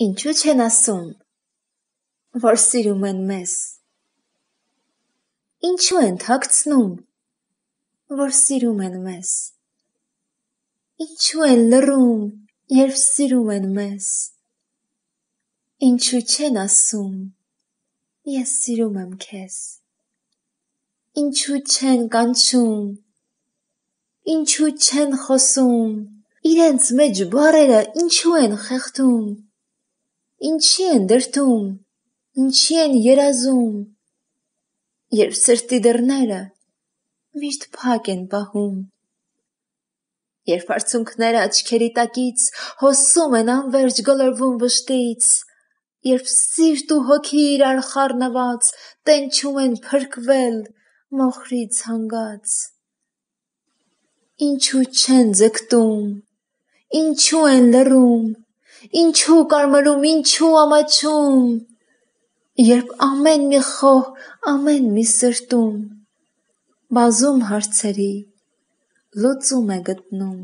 Ինչու չեն ասում, որ սիրում են մեզ, ինչու են թաքցնում, որ սիրում են մեզ, ինչու են լռում, երբ սիրում են մեզ, ինչու չեն ասում, ես սիրում եմ քեզ, ինչու չեն կանչում, ինչու չեն խոսում, իրենց մեջ բառերը ինչու են խեղդում, ինչի են դրդում, ինչի են երազում, երբ սրտի դռները միշտ փակ են պահում, երբ արցունքները աչքերի տակից հոսում են անվերջ գլորվում վշտից, երբ սիրտ ու հոգի իրար խառնված տենչում են փրկվել մոխրից հանգած, ինչու չեն ձգտում, ինչու են լռում, ինչու կարմրում, ինչու ամաչում, երբ ամեն մի խոհ, ամեն մի սրտում բազում հարցերի լուծում է գտնում.